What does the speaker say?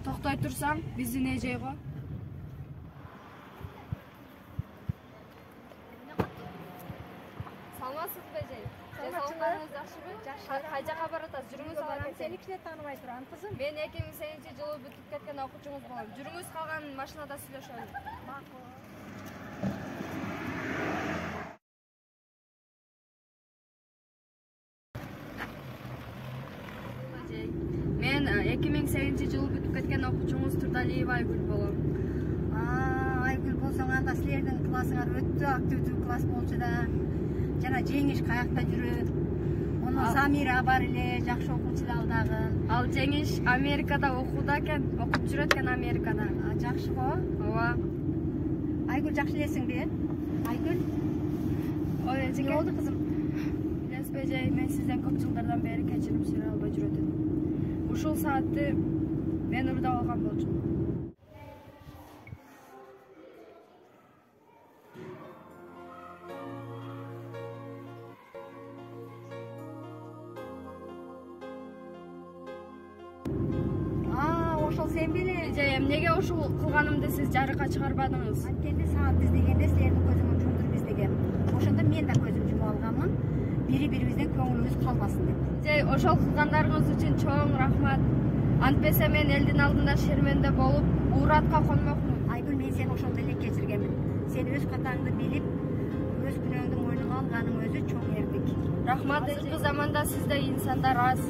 Токтой турсаң, биздин эжейго. Саламатсызбы эжей? Саламатсызбы? Жакшыбы? Жакшы. Кай жака баратасыз? Жүрүңүз алам. Сени кичине тааныбай турам, кызым. Мен 2008-жылы бүтүп кеткен окуучуңуз болом. Жүрүңүз, калган машинада сүйлөшөлү. Макул. Мен 2008-жылы бүтүп кеткен окуучуңуз Турдалиева Айгүл болом. Айгүл болсоң, анда силердин классыңар өтө активдүү класс болчу да. Жана Жеңиш каякта жүрөт. Муну Самира бар эле, жакшы окуучу да ал дагы. Ал Жеңиш Америкада окууда экен, окуп жүрөт экен Америкада. Жакшы го? Ооба. Айгүл жакшы элесиңби? Айгүл? Ой, эжеке. Не болду кызым? Билесизби эжей, мен сизден көп жылдардан бери кечирим сурай албай жүрөт элем. Ушул саатты мен уурдап алган болчумун. Ошол сен беле? Эжей, эмнеге ушул кылганымды сиз жарыкка чыгарбадыңыз? Анткенде саат издегенде силердин көзүңөр жумдуруп издегем. Ошондо мен да көзүм жумуп алганмын. Бири-бирибизден көңүлүбүз калбасын деп. Эжей, ошол кылгандарыңыз үчүн чоң рахмат. Антпесе мен элдин алдында шерменде болуп, ууратка конмокмун. Айгүл, мен сени ошондой эле кечиргенмин. Сен өз катаңды билип, өз күнөөңдү мойнуңа алганың өзү чоң эрдик. Рахмат, азыркы заманда сизде инсандар аз.